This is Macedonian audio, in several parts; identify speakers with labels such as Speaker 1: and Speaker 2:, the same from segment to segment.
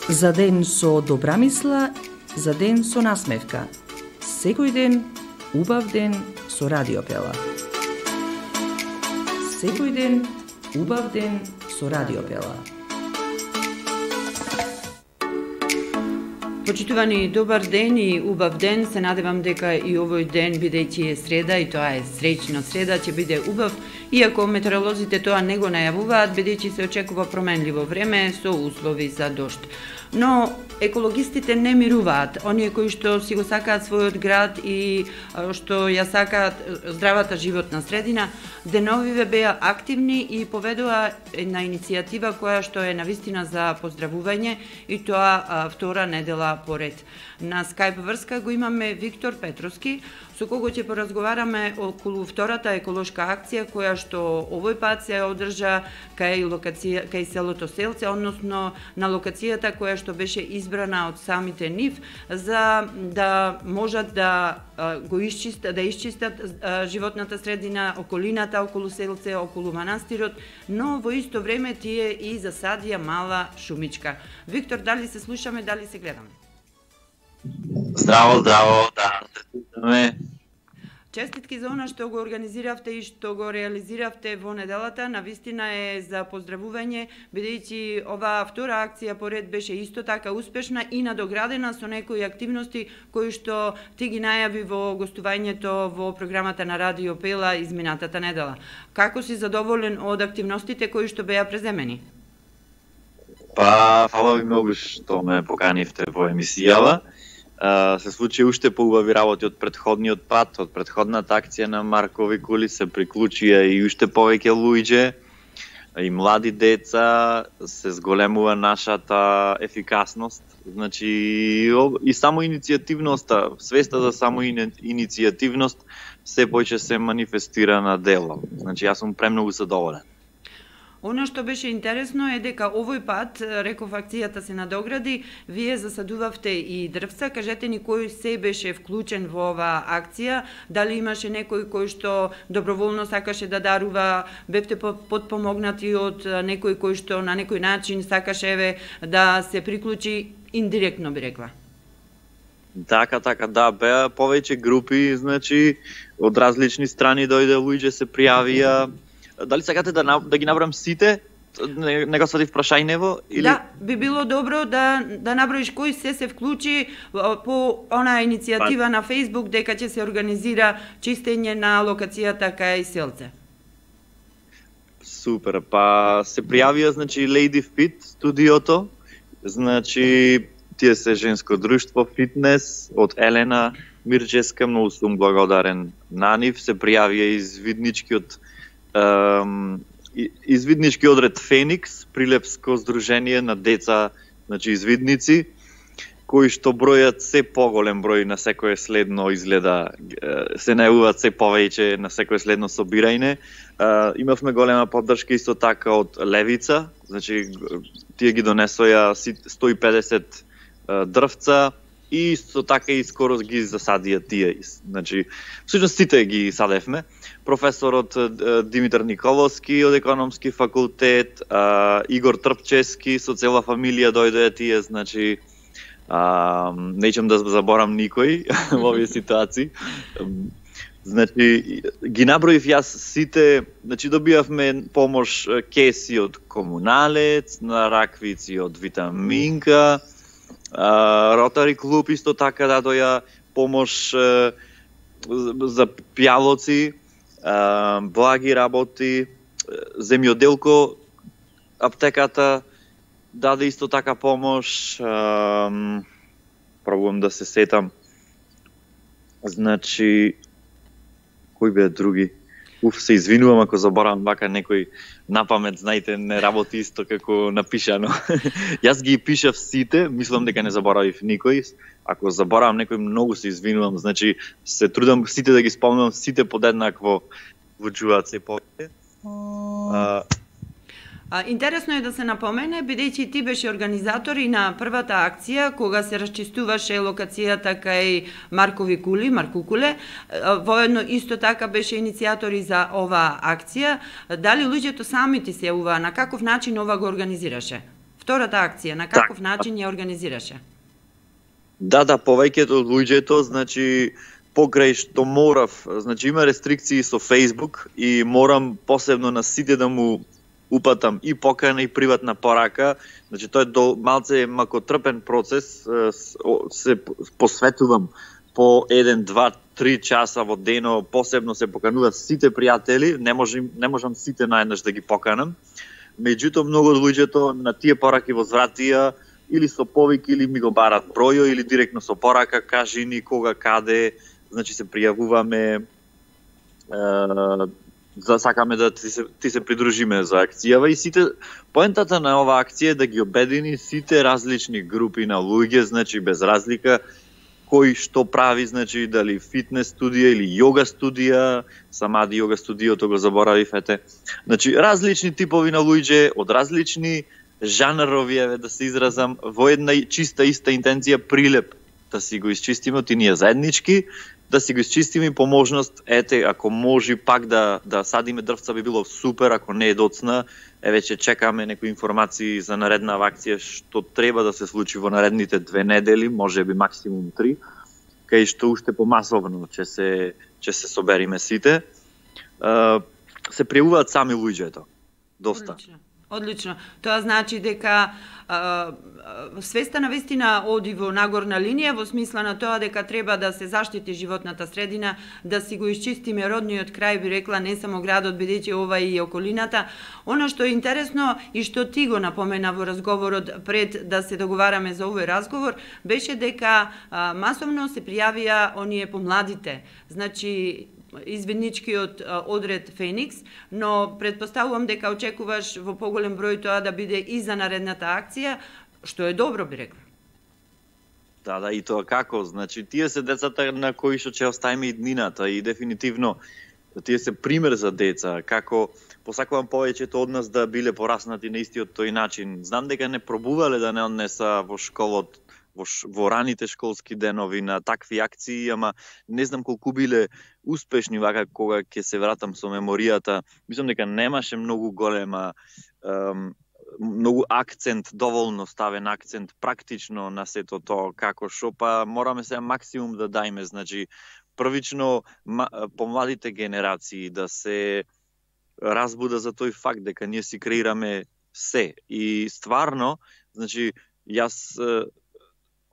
Speaker 1: За ден со добра мисла, за ден со насмевка. Секој ден, убав ден со Радиопела. Секој ден, убав ден со Радиопела.
Speaker 2: Почитувани, добар ден и убав ден. Се надевам дека и овој ден, бидејќи е среда и тоа е среќна среда, ќе биде убав, иако метеоролозите тоа не го најавуваат, бидејќи се очекува променливо време со услови за дожд. Но екологистите не мируваат. Оние кои што си го сакаат својот град и што ја сакаат здравата животна средина, деновиве беа активни и поведоа на иницијатива која што е навистина за поздравување и тоа втора недела поред. На скајп врска го имаме Виктор Петровски, со кого ќе поразговараме околу втората еколошка акција која што овој пат се одржа кај селото Селце, односно на локацијата која што беше избрана од самите нив за да можат да исчистат животната средина, околината околу Селце, околу манастирот, но во исто време тие и засадија мала шумичка. Виктор, дали се слушаме, дали се гледаме?
Speaker 3: Здраво, да, се слушаме.
Speaker 2: Честитки за она што го организиравте и што го реализиравте во неделата, навистина е за поздравување, бидејќи оваа втора акција поред беше исто така успешна и надоградена со некои активности кои што ти ги најави во гостувањето во програмата на Радио Пела изминатата недела. Како си задоволен од активностите кои што беа преземени?
Speaker 3: Па, фала ви многу што ме поканивте во емисијава. Се случи уште поубави работи од претходниот пат, од претходната акција на Маркови кули се приклучија и уште повеќе луѓе и млади деца, се зголемува нашата ефикасност. Значи и само иницијативноста, свеста за само иницијативност се поќе се манифестира на дело. Значи јас сум премногу задоволен.
Speaker 2: Оно што беше интересно е дека овој пат, реков, акцијата се надогради, вие засадувавте и дрвца. Кажете ни кој се беше вклучен во оваа акција, дали имаше некој кој што доброволно сакаше да дарува, бевте подпомогнати од некој кој што на некој начин сакаше да се приклучи индиректно, би рекла.
Speaker 3: Така, да, беа повеќе групи, значи од различни страни дојде луѓе, се пријавија. Дали сакате да ги набрам сите? Не го сватив прашајнево? Или...
Speaker 2: Да, би било добро да наброиш кој се вклучи по онаа иницијатива на Facebook дека ќе се организира чистење на локацијата кај Селце.
Speaker 3: Супер, па се пријавија, значи, Lady Fit студиото, значи, тие се женско друштво фитнес од Елена Мирческа, многу сум благодарен на нив, се пријавија извиднички одред Феникс, прилепско здружение на деца, значи извидници, кои што бројат се поголем број на секое следно изгледа, се најавуваат се повеќе на секое следно собирање. Имавме голема поддршка исто така од Левица, значи тие ги донесоја 150 дрвца и исто така и скоро ги засадија тие. Значи, всушност сите ги садевме. Професорот Димитар Николовски од економски факултет, Игор Трпчески со цела фамилија дојдоа тие, значи неќам да заборам никој во овие ситуации. Значи ги наброив јас сите, значи добивавме помош кеси од Комуналец, на раквици од Витаминка, Ротари клуб исто така дадоја помош за пијалоци, благи работи, земјоделко аптеката даде исто така помош, пробувам да се сетам, значи, кои беа други? Се извинувам ако заборавам вака некој напамет, знаете, не работи исто како напишано. Јас ги пишав сите, мислам дека не заборавив никој. Ако заборавам некој, многу се извинувам, значи се трудам сите да ги спомнам, сите подеднакво вучуваат се повеќе.
Speaker 2: Интересно е да се напомене, бидејќи ти беше организатор и на првата акција, кога се расчистуваше локацијата кај Маркови кули, Маркукуле, воедно исто така беше иницијатор и за оваа акција. Дали луѓето сами ти се јавуваа, на каков начин ова го организираше? Втората акција, на каков начин ја организираше?
Speaker 3: Да, повеќето од луѓето, значи покрај што морав, значи има рестрикции со Facebook и морам посебно на сите да му упатам и покана и приватна порака. Значи тоа е малце макотрпен процес, се посветувам по 1, 2, 3 часа во дено, посебно се покануваат сите пријатели, не можам сите наеднаш да ги поканам. Меѓутоа многу од луѓето на тие пораки возвратија или со повик или ми го барат бројо или директно со порака, кажи ни кога, каде, значи се пријавуваме, сакаме да ти се придружиме за акцијава и сите, поентата на оваа акција е да ги обедини сите различни групи на луѓе, значи без разлика кој што прави, значи дали фитнес студија или јога студија, самади јога студиото го заборавив, значи различни типови на луѓе од различни жанрови, да се изразам, во една чиста иста интенција, прилеп да си го исчистиме од тие заеднички, да си го исчистиме и по можност, ако може пак да садиме дрвца би било супер, ако не е доцна, веќе чекаме некои информации за наредна акција што треба да се случи во наредните 2 недели, може би максимум 3, кај што уште помасовно ќе се собериме сите. Се пријавуваат сами луѓето. Доста.
Speaker 2: Одлично. Тоа значи дека свеста на вистина оди во нагорна линија во смисла на тоа дека треба да се заштити животната средина, да си го исчистиме родниот крај, би рекла, не само градот, бидејќи ова и околината. Она што е интересно и што ти го напомена во разговорот пред да се договараме за овој разговор, беше дека масовно се пријавија оние помладите. Значи извидничкиот одред Феникс, но предпоставувам дека очекуваш во поголем број тоа да биде и за наредната акција, што е добро, би рекла.
Speaker 3: Да, и тоа како, значи тие се децата на кои што ќе оставиме и днината и дефинитивно тие се пример за деца, како посакувам повеќето од нас да биле пораснати на истиот тој начин. Знам дека не пробувале да не однеса во школот, во раните школски денови на такви акции, ама не знам колку биле успешни вака кога ќе се вратам со меморијата. Мислам дека немаше многу голема, многу акцент, доволно ставен акцент практично на сето тоа, како шо, па мораме се максимум да дајме, значи првично помладите генерации да се разбуда за тој факт дека ние си креираме се и стварно, значи јас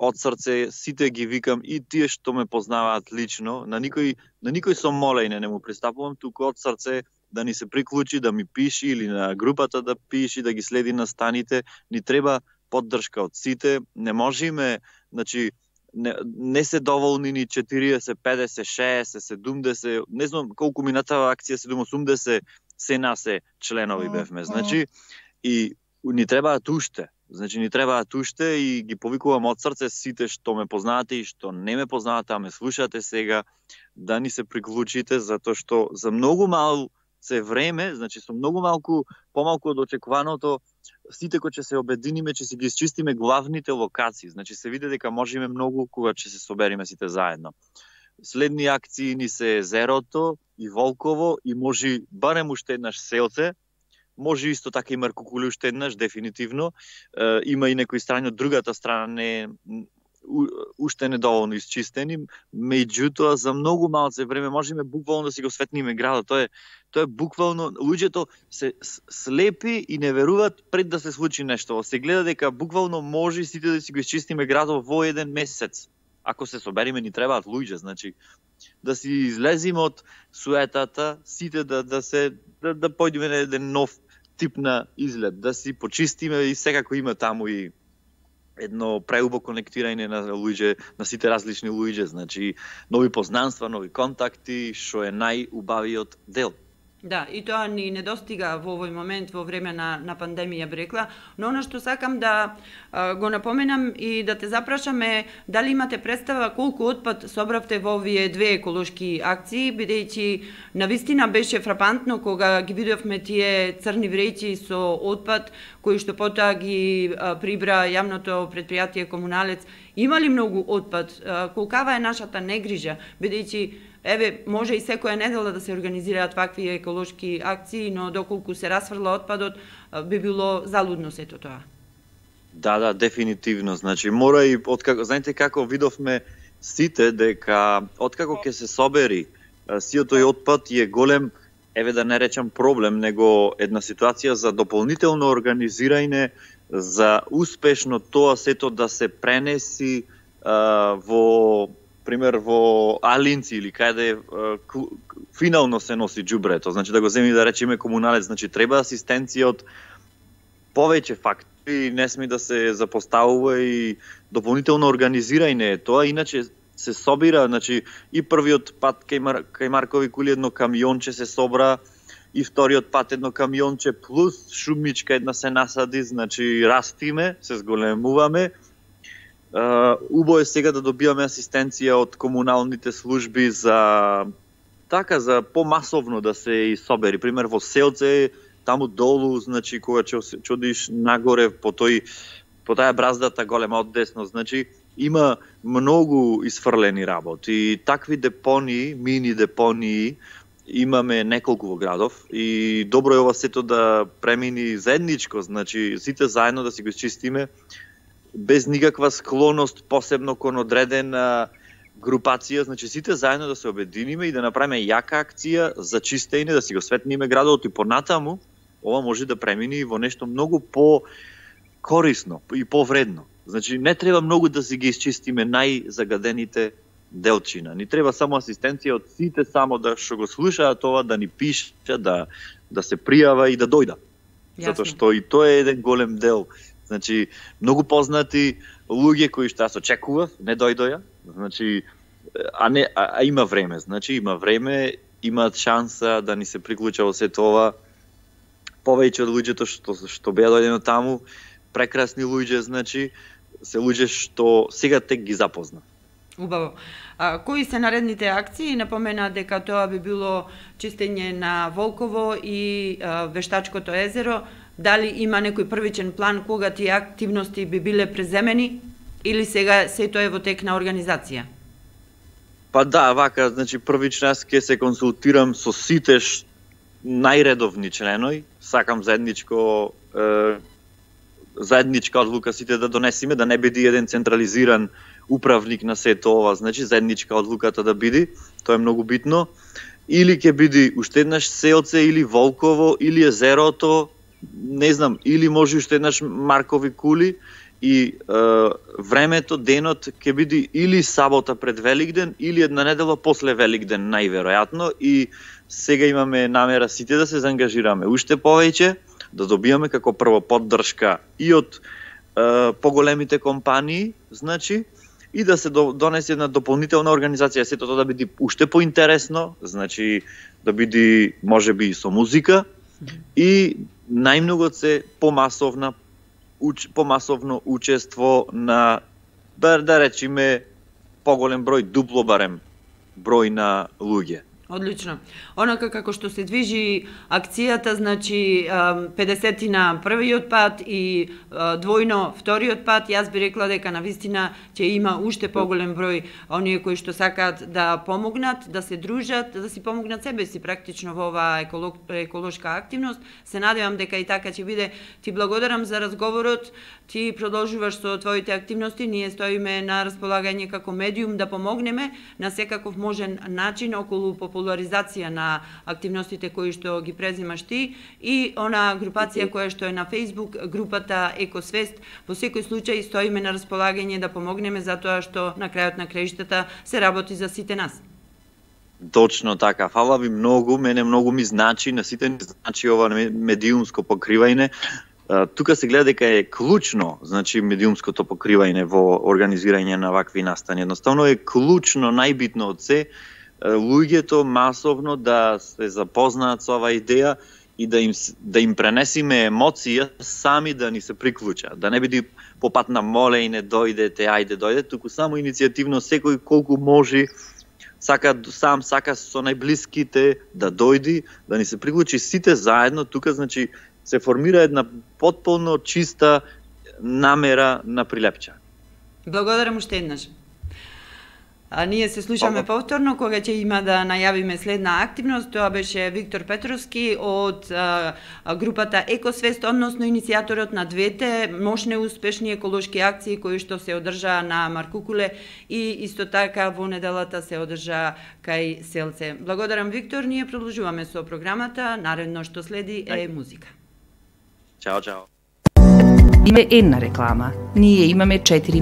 Speaker 3: од срце сите ги викам и тие што ме познаваат лично, на никој со молење не му пристапувам, туку од срце да ни се приклучи, да ми пиши или на групата да пиши, да ги следи на станите, ни треба поддршка од сите, не можеме, значи не се доволни ни 40, 50, 60, 70, не знам колку минатава акција, 80 се насе членови бевме, значи и ни требаат уште. Значи ни требаат уште и ги повикувам од срце сите што ме познавате и што не ме познавате, а ме слушате сега, да ни се приклучите, затоа што за многу малце време, значи со многу помалку од очекуваното, сите кои ќе се обединиме, ќе си ги исчистиме главните локации. Значи се види дека можеме многу кога ќе се собериме сите заедно. Следни акции ни се Зерото и Волково и може барем уште еднаш Селце. Може исто така и Маркукуле уште еднаш, дефинитивно. Има и некои страни од другата страна уште недоволно исчистени, меѓутоа за многу малце време можеме буквално да си го светниме градот. Тоа е буквално, луѓето се слепи и не веруваат пред да се случи нешто. Се гледа дека буквално може сите да си го исчистиме градот во еден месец. Ако се собериме, ни требаат луѓе, значи да си излезиме од суетата, сите да појдеме на еден нов тип на изглед, да си почистиме и секако има таму и едно преубо конектирање на луѓе, на сите различни луѓе, значи нови познанства, нови контакти, што е најубавиот дел.
Speaker 2: Да, и тоа ни недостига во овој момент, во време на пандемија, би рекла, но она што сакам да го напоменам и да те запрашаме, дали имате представа колку отпад собравте во овие две еколошки акции, бидејќи навистина беше фрапантно кога ги видовме тие црни вреќи со отпад, кои што потоа ги прибра јавното предпријатие Комуналец. Има ли многу отпад? Колкава е нашата негрижа, бидејќи може и секоја недела да се организираат вакви еколошки акции, но доколку се расфрла отпадот, би било залудно сето тоа.
Speaker 3: Да, дефинитивно. Значи мора и откако знаете како видовме сите дека откако ќе се собери сиот тој отпад е голем, еве да не речам проблем, него една ситуација за дополнително организирање за успешно тоа сето да се пренеси во пример во Алинци или каде финално се носи џубрето, значи да го земи да речеме комуналец, значи треба асистенција од повеќе фактори, не сме да се запоставува и дополнително организирање тоа, иначе се собира, значи и првиот пат кај Маркови кули едно камионче се собра, и вториот пат едно камионче плюс шумичка една се насади, значи растиме, се зголемуваме. Убаво е сега да добиваме асистенција од комуналните служби за за помасовно да се и собери. Пример во селце, таму долу, значи кога ќе одиш нагоре по таа браздата голема од десно, значи има многу исфрлени работи. Такви депонии, мини депонии имаме неколку во градов и добро е ова сето да премини заедничко, значи сите заедно да си го изчистиме без никаква склоност посебно кон одредена групација, значи сите заедно да се обединиме и да направиме јака акција за чистење, да си го светниме градот и понатаму ова може да премини во нешто многу по-корисно и повредно. Значи не треба многу да си ги изчистиме најзагадените делчина. Ни треба само асистенција од сите само да што го слушаат тоа, да ни пишат, да се пријава и да дојда. Затоа што и тоа е еден голем дел. Значи многу познати луѓе кои што јас очекував, не дојдоја. Значи а има време, значи има време, имаат шанса да ни се приклучат во сето ова. Повеќе од луѓето што беа дојдено таму, прекрасни луѓе, значи се луѓе што сега тек ги запозна.
Speaker 2: Убаво. Кои се наредните акции? Напомена дека тоа би било чистење на Волково и Вештачкото езеро. Дали има некој првичен план кога тие активности би биле преземени или сега сето е во тек на организација?
Speaker 3: Па да, вака, значи првично јас ќе се консултирам со сите најредовни членои, сакам заедничка одлука сите да донесиме, да не биде еден централизиран управник на сето ова, значи заедничка одлуката да биде, тоа е многу битно. Или ќе биде уште еднаш селце, или Волково, или езерото, не знам, или може уште еднаш Маркови кули, и времето, денот ќе биде или сабота пред Великден, или една недела после Великден најверојатно, и сега имаме намера сите да се заангажираме уште повеќе, да добиваме како прво поддршка и од поголемите компании, значи, и да се донесе една дополнителна организација, сето тоа да биде уште поинтересно, значи да биде можеби со музика и најмногу се помасовно учество на, да речеме, поголем број, дупло барем број на луѓе.
Speaker 2: Одлично. Онака како што се движи акцијата, значи 50 на првиот пат и двојно вториот пат, јас би рекла дека навистина ќе има уште поголем број оние кои што сакаат да помогнат, да се дружат, да си помогнат себе си практично во оваа еколошка активност. Се надевам дека и така ќе биде. Ти благодарам за разговорот. Ти продолжуваш со твоите активности, ние стоиме на располагање како медиум да помогнеме на секаков можен начин околу популаризација на активностите кои што ги презимаш ти и она групација која што е на Facebook, групата Екосвест. Во секој случај стоиме на располагање да помогнеме затоа што на крајот на краиштата се работи за сите нас.
Speaker 3: Точно така. Фала ви многу, мене многу ми значи, на сите ни значи ова медиумско покривање. Тука се гледа дека е клучно, значи медиумското покривање во организирање на вакви настани. Едноставно е клучно, најбитно од се, луѓето масовно да се запознаат со оваа идеја и да им пренесиме емоција сами да ни се приклучат. Да не биде по пат на молење, дојдете, ајде, дојдете, туку само иницијативно секој колку може сака со најблиските да дојди, да ни се приклучи сите заедно, тука значи се формира една потполно чиста намера на Прилепча.
Speaker 2: Благодарам уште еднаш. Ние се слушаме повторно кога ќе има да најавиме следна активност. Тоа беше Виктор Петровски од групата Екосвест, односно иницијаторот на двете мощни успешни еколошки акции кои што се одржаа на Маркукуле и исто така во неделата се одржа кај Селце. Благодарам, Виктор. Ние продолжуваме со програмата. Наредно што следи е музика.
Speaker 3: Чао, чао.
Speaker 1: Има една реклама. Ние имаме 4